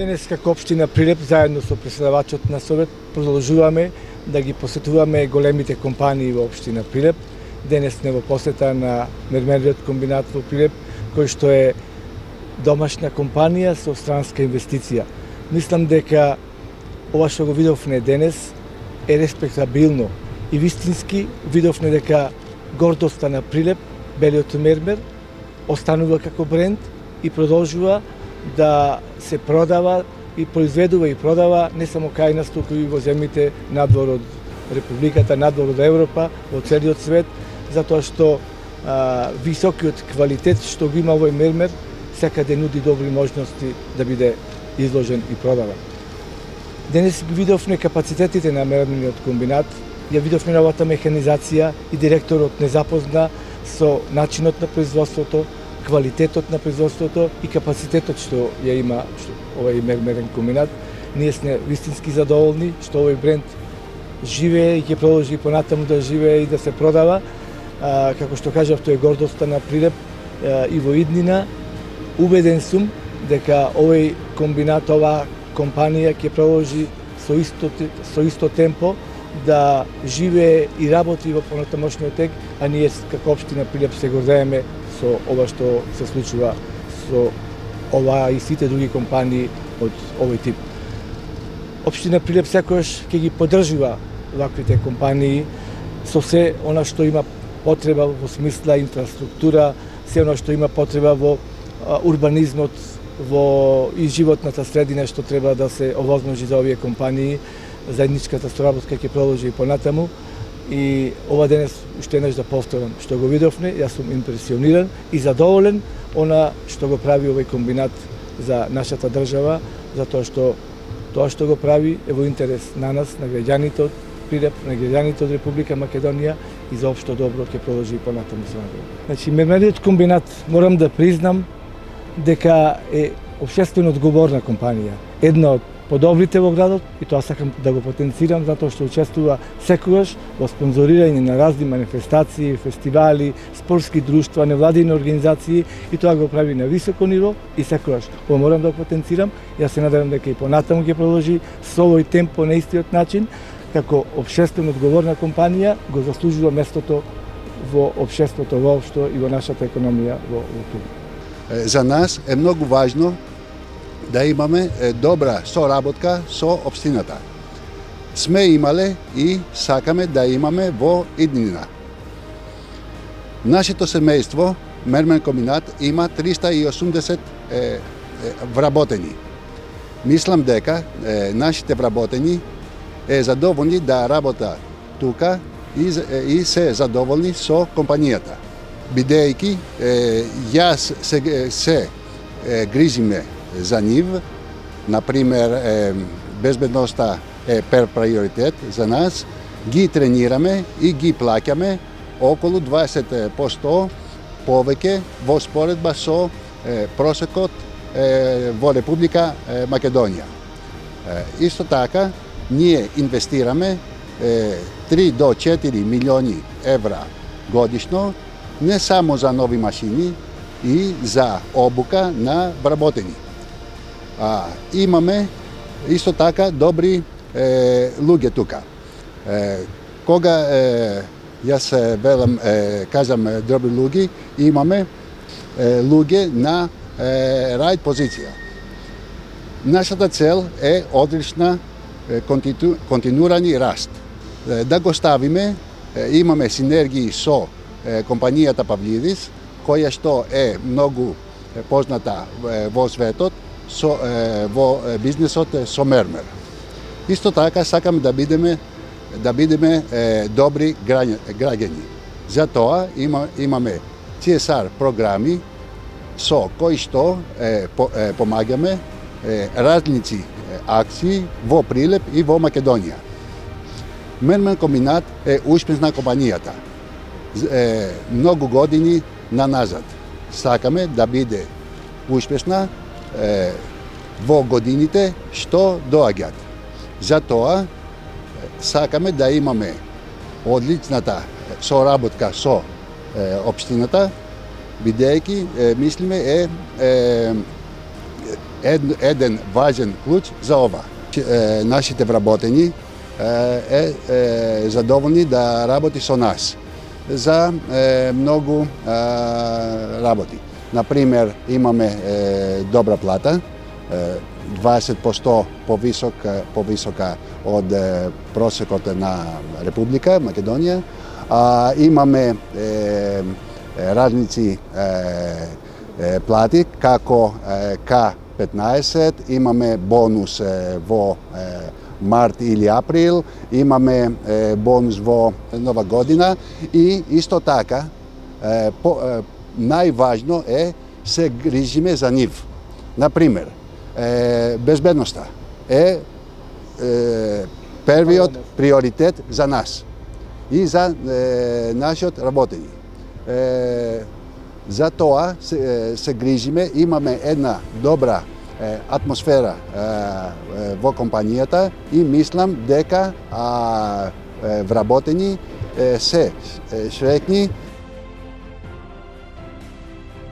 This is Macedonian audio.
Денес како општина Прилеп заедно со претседавачот на Совет продолжуваме да ги посетуваме големите компании во општина Прилеп. Денес сме во посета на мермериот комбинат во Прилеп, кој што е домашна компанија со странска инвестиција. Мислам дека ова што го видовме денес е респектабилно и вистински видовме дека гордоста на Прилеп, белиот мермер, останува како бренд и продолжува да се продава и произведува и продава не само кај нас, туку и во земјите надвор од Републиката, надвор од Европа, во целиот свет, затоа што високиот квалитет што го има овој мермер секаде нуди добри можности да биде изложен и продаван. Денес ги видовме капацитетите на мермерниот комбинат, ја видовме новата механизација и директорот не запозна со начинот на производството, квалитетот на производството и капацитетот што ја има овој мермерен комбинат. Ние сме вистински задоволни што овој бренд живее и ќе продолжи понатаму да живее и да се продава. Како што кажав, тоа е гордоста на Прилеп и во иднина. Убеден сум дека овој комбинат, оваа компанија ќе продолжи со исто темпо да живее и работи во понатамошниот тек, а ние како општина Прилеп се гордееме со ова што се случува со ова и сите други компании од овој тип. Општина Прилеп секогаш ќе ги поддржува ваквите компании со се она што има потреба во смисла инфраструктура, се она што има потреба во урбанизмот, во и животната средина што треба да се овозможи за овие компании. Заедничката соработка ќе продолжи и понатаму. И ова денес уште еднаш да повторам што го видовме, јас сум импресиониран и задоволен она што го прави овој комбинат за нашата држава, затоа што тоа што го прави е во интерес на нас, на граѓаните од Прилеп, на граѓаните од Република Македонија и за општо добро ќе продолжи и понатаму со него. Значи, мермериот комбинат, морам да признам дека е општествено одговорна компанија. Една од подобрите во градот и тоа сакам да го потенцирам затоа што учествува секогаш во спонзорирање на разни манифестации, фестивали, спортски друштва, невладини организации и тоа го прави на високо ниво и секогаш ова морам да го потенцирам. Јас се надевам дека и понатаму ќе продолжи со овој темпо на истиот начин, како општествено одговорна компанија го заслужува местото во општеството воопшто и во нашата економија во тука. За нас е многу важно да имаме добра соработка со општината. Сме имале и сакаме да имаме во иднина. Нашето семејство, мермен комбинат, има 380 вработени. Мислам дека нашите вработени е задоволни да работа тука и се задоволни со компанијата. Бидејќи јас се грижиме за нив, например, безбедноста е пер приоритет за нас, ги тренираме и ги плаќаме околу 20% повеќе во споредба со просекот во Република Македонија. Исто така, ние инвестираме 3 до 4 милиони евра годишно, не само за нови машини и за обука на вработени. Имаме исто така добри луѓе тука. Кога јас велам, кажам добри луѓе, имаме луѓе на рајд позиција. Нашата цел е одлична континуирани раст. Да го ставиме, имаме синергии со компанијата Павлидис, која што е многу позната во светот, во бизнесот со мермер. Исто така сакаме да бидеме добри граѓани. Затоа имаме CSR програми со кои што помагаме различни акции во Прилеп и во Македонија. Мермен комбинат е успешна компанијата. Многу години наназад. Сакаме да биде успешна во годините што доаѓаат. Затоа сакаме да имаме одличната соработка со општината, бидејќи мислиме еден важен клуч за ова. Нашите вработени е задоволни да работи со нас за многу работи. Например, имаме добра плата, 20% повисока од просекот на Република Македонија. Имаме разници плати како К15, имаме бонус во март или април, имаме бонус во нова година и исто така најважно е се грижиме за нив. Например, безбедноста е првиот приоритет за нас и за нашиот работени. За тоа се грижиме, имаме една добра атмосфера во компанијата и мислам дека вработени се среќни